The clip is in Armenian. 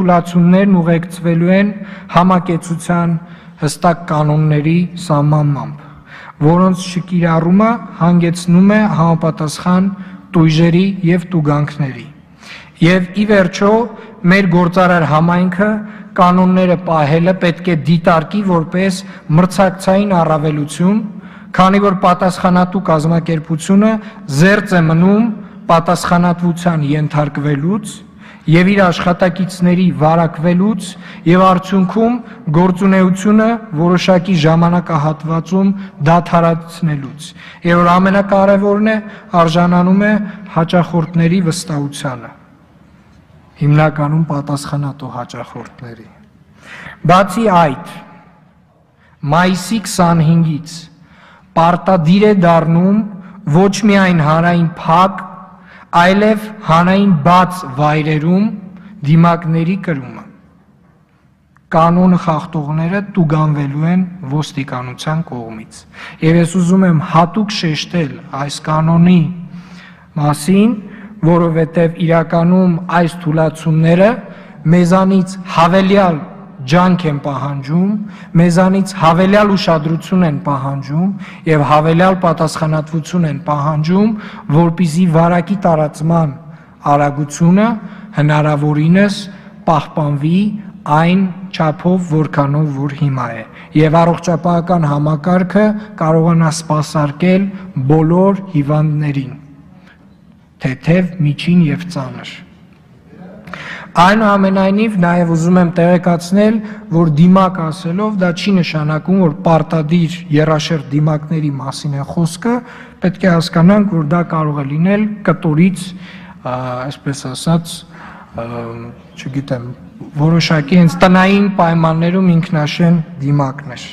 թուլացումներն ուղեկցվելու են համակեցության հստակ կանոնների սահմանմամբ, որոնց չկիրառումը հանգեցնում է համապատասխան տույժերի և տուգանքների։ Եվ ի վերջո, մեր գործարար համայնքը կանոնները պահելը պետք է դիտարկի որպես մրցակցային առավելություն, քանի որ պատասխանատու կազմակերպությունը զերծ է մնում պատասխանատվության ենթարկվելուց և իր աշխատակիցների վարակվելուց և արդյունքում գործունեությունը որոշակի ժամանակահատվածում դադարեցնելուց, և որ ամենակարևորն է, արժանանում է հաճախորդների վստահությանը, հիմնականում պատասխանատու հաճախորդների։ Բացի այդ, մայիսի 25-ից պարտադիր է դառնում ոչ միայն հանրային փակ, այլև հանրային բաց վայրերում դիմակների կրումը։ Կանոնը խախտողները տուգանվելու են ոստիկանության կողմից։ Եվ ես ուզում եմ հատուկ շեշտել այս կանոնի մասին, որովհետև իրականում այս թուլացումները մեզանից հավելյալ ջանք են պահանջում, մեզանից հավելյալ ուշադրություն են պահանջում և հավելյալ պատասխանատվություն են պահանջում, որպեսզի վարակի տարածման արագությունը հնարավորինս պահպանվի այն չափով, որքանով որ հիմա է, և առողջապահական համակարգը կարողանա սպասարկել բոլոր հիվանդներին, թեթև, միջին և ծանր։ Այնուամենայնիվ, նաև ուզում եմ տեղեկացնել, որ դիմակ ասելով դա չի նշանակում, որ պարտադիր եռաշերտ դիմակների մասին է խոսքը, պետք է հասկանանք, որ դա կարող է լինել կտորից, այսպես ասած, չգիտեմ, որոշակի հենց տնային պայմաններում ինքնաշեն դիմակներ։